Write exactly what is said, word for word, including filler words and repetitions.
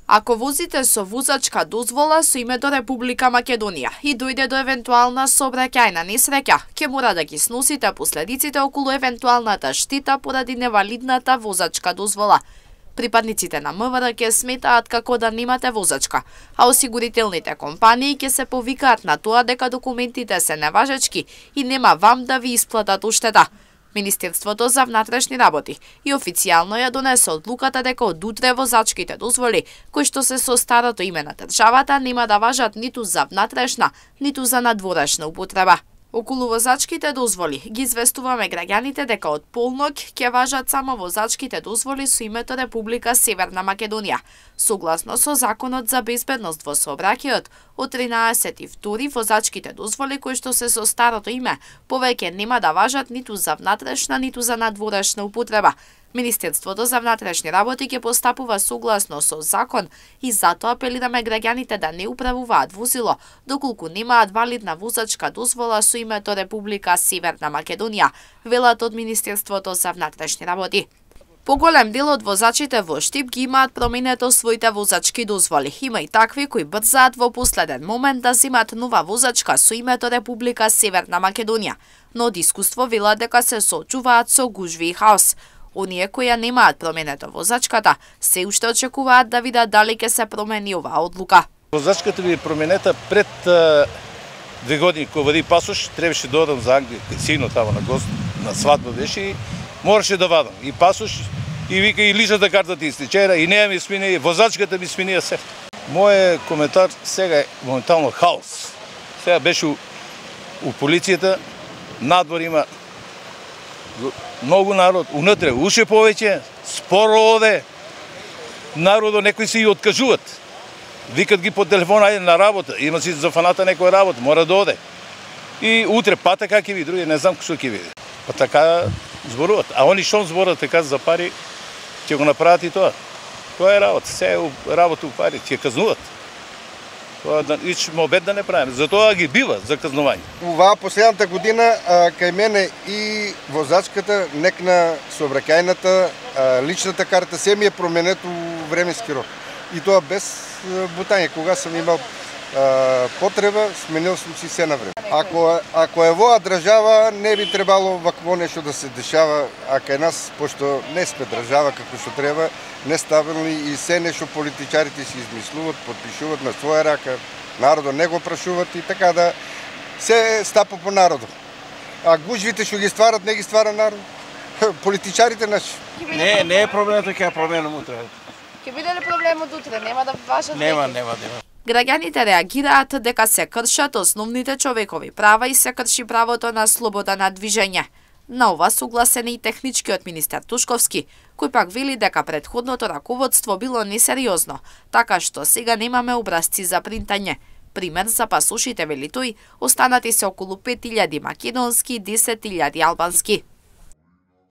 Ако возите со возачка дозвола со името Република Македонија и дојде до евентуална сообраќајна несреќа, ќе мора да ги сносите последиците околу евентуалната штета поради невалидната возачка дозвола. Припадниците на МВР ќе сметаат како да немате возачка, а осигурителните компании ќе се повикаат на тоа дека документите се неважечки и нема вам да ви исплатат уштета. Министерството за внатрешни работи и официјално ја донесе одлуката дека од утре возачките дозволи, кои што се со старото име на државата, нема да важат ниту за внатрешна, ниту за надворешна употреба. Околу возачките дозволи ги известуваме граѓаните дека од полнок ќе важат само возачките дозволи со името Република Северна Македонија. Согласно со Законот за безбедност во сообраќајот, од тринаесети и втори возачките дозволи кои што се со старото име повеќе нема да важат ниту за внатрешна, ниту за надворешна употреба. Министерството за внатрешни работи ќе постапува согласно со закон и затоа апелираме граѓаните да не управуваат возило доколку немаат валидна возачка дозвола со името Република Северна Македонија, велат од Министерството за внатрешни работи. Поголем дел од возачите во Штип ги имаат променето своите возачки дозволи. Има и такви кои брзаат во последен момент да земат нова возачка со името Република Северна Македонија, но од искуство велат дека се соочуваат со гужви и хаос. Оние кои ја немаат променето возачката, се уште очекуваат да видат дали ќе се промени оваа одлука. Возачката ви променета пред а, две години кога вади пасош, требаше да одам за Англија, сино тама на гост, на свадба беше и мораше да вадам и пасош и вика и личната карта ти истечера и неа ми смени, и возачката ми смени се. Моје коментар сега е моментално хаос. Сега беше у, у полицијата, надвор има многу народ, унатре уште повеќе, споро оде, народо некои се и откажуваат. Викат ги по телефон, ајде на работа, има си за фаната некоја работа, мора да оде. И утре пата как ќе ви, други не знам што ќе види. Па така зборуваат. А они што зборат така за пари, ќе го направат и тоа. Тоа е работа, се е работа у пари, ќе казнуват. Тоа да ичме обед да не правиме. Затоа ги бива за казнување. Оваа последната година а, кај мене и возачката, некна сообраќајната, а, личната карта се ми е променето временски рок. И тоа без бутање. Кога сум имал а, потреба, сменил сум си се на време. Ако, ако е воа држава, не би требало вакво нешто да се дешава, а кај нас, пошто не сме држава како што треба, нестабилни и се нешто политичарите си измислуват, подпишуват на своја рака, народот не го прашуват и така да се стапа по народот. А гужвите што ги стварат, не ги ствара народ. Политичарите наши. Не, не е проблемот, ќе променам утре. Ќе биде ли проблемот утре? Нема да важат? Нема, нема, нема. Граѓаните реагираат дека се кршат основните човекови права и се крши правото на слобода на движење. На ова согласен и техничкиот министер Тушковски, кој пак вели дека претходното раководство било несериозно, така што сега немаме образци за принтање. Пример за пасошите, вели тој, останати се околу пет илјади македонски и десет илјади албански.